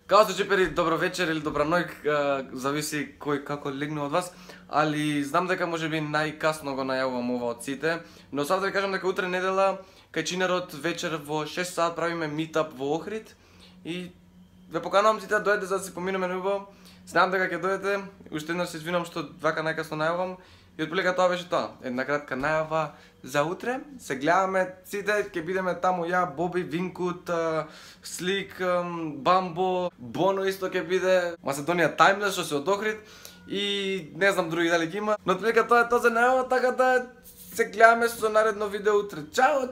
Као се чепери, добро вечер или добра ноќ, зависи кој како легне од вас, али знам дека можеби најкасно го најавувам ова од сите, но сад да ви кажам дека утре недела кај Чинерот вечер во 6 саат правиме митап во Охрид и ве поканувам сите да дојдете за да си поминеме неубаво. Знам дека ќе дојдете, уште еднаш се извинувам што вака најкасно најавувам и отприлика тоа беше тоа. Една кратка најава за утре. Се гледаме сите, ќе бидеме таму ја, Боби, Винкут, Слик, Бамбо, Боно исто ќе биде, Macedonian Timeless што се од Охрид и не знам други дали ќе има. Но отприлика тоа е тоа за најава, така да се гледаме со наредно видео утре. Чао!